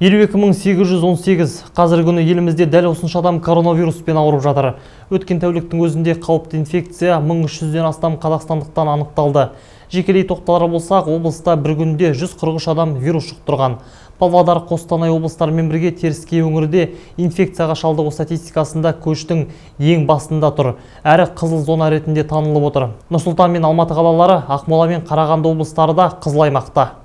52.818 қазіргі күні елімізде дәл осынша адам коронавируспен ауырып жатыр. Өткен тәуліктің өзінде қауіпті инфекция 1300-ден астам қазақстандықтан анықталды. Жекелей тоқталар болсақ, облыста бір күнде 143 адам вирус жұқтырған. Павлодар, Қостанай облыстарымен бірге Теріскей өңірде инфекцияға шалдығу статистикасында көштің ең басында тұр. Әрі қызыл зона ретінде танылып отыр. Нұр-Сұлтан мен Алматы қалалары, Ақмола мен Қарағанды облыстары да қызыл аймақта.